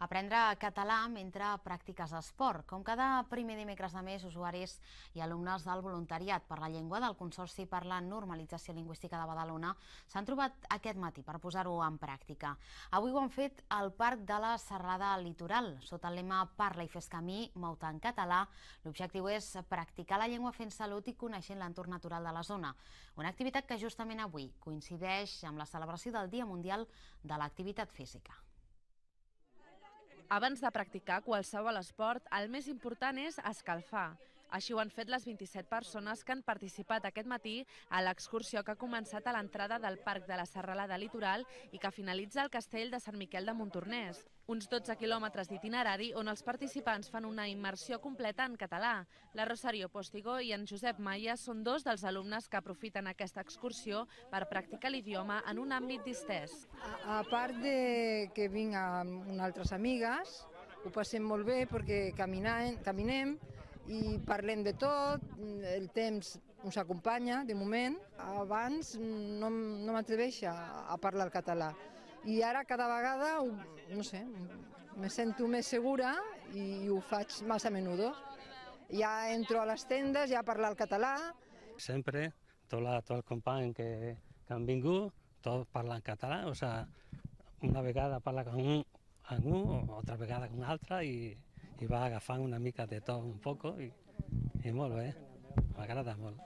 Aprendre català mentre practiques esport. Com cada primer dimecres de mes, usuaris i alumnes del voluntariat per la llengua del Consorci per la Normalització Lingüística de Badalona s'han trobat aquest matí per posar-ho en pràctica. Avui ho han fet al Parc de la Serralada Litoral, sota el lema Parla i fes camí, mou-te en català. L'objectiu és practicar la llengua fent salut i coneixent l'entorn natural de la zona. Una activitat que justament avui coincideix amb la celebració del Dia Mundial de l'Activitat Física. Abans de practicar qualsevol esport, el més important és escalfar. Així ho han fet les 27 persones que han participat aquest matí a l'excursió que ha començat a l'entrada del Parc de la Serralada Litoral i que finalitza al castell de Sant Miquel de Montornès. Uns 12 quilòmetres d'itinerari on els participants fan una immersió completa en català. La Rosario Postigo i en Josep Maia són dos dels alumnes que aprofiten aquesta excursió per practicar l'idioma en un àmbit distès. A part de que vinc amb unes altres amigues, ho passem molt bé perquè caminem i parlem de tot, el temps ens acompanya, de moment. Abans no m'atreveixo a parlar el català i ara cada vegada, no sé, me sento més segura i ho faig massa a menudo. Ja entro a les tendes, ja a parlar el català. Sempre, tots els companys que han vingut, tots parlen català, o sigui, una vegada parla amb un, altra vegada amb un altre i va agafant una mica de tot un poc i molt bé, m'agrada molt.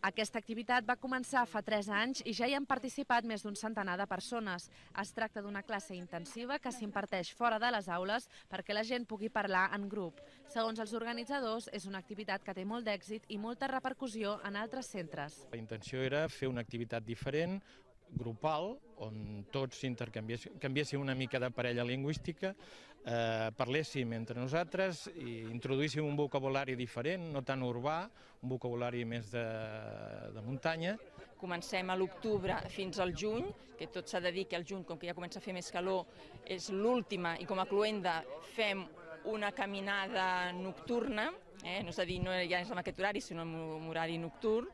Aquesta activitat va començar fa 3 anys i ja hi han participat més d'un centenar de persones. Es tracta d'una classe intensiva que s'imparteix fora de les aules perquè la gent pugui parlar en grup. Segons els organitzadors, és una activitat que té molt d'èxit i molta repercussió en altres centres. La intenció era fer una activitat diferent, grupal, on tots canviéssim una mica de parella lingüística, parléssim entre nosaltres i introduíssim un vocabulari diferent, no tan urbà, un vocabulari més de muntanya. Comencem a l'octubre fins al juny, que tot s'ha de dir que al juny, com que ja comença a fer més calor, és l'última i com a cloenda fem una caminada nocturna, no és a dir, no ja és en aquest horari, sinó en horari nocturn,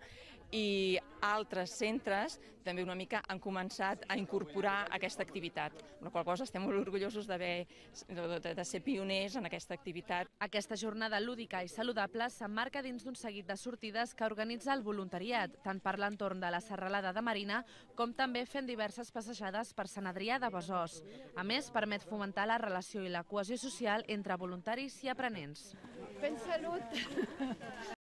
i altres centres també una mica han començat a incorporar aquesta activitat, amb la qual cosa estem molt orgullosos de ser pioners en aquesta activitat. Aquesta jornada lúdica i saludable s'emmarca dins d'un seguit de sortides que organitza el voluntariat, tant per l'entorn de la Serralada de Marina com també fent diverses passejades per Sant Adrià de Besòs. A més, permet fomentar la relació i la cohesió social entre voluntaris i aprenents. Fent salut!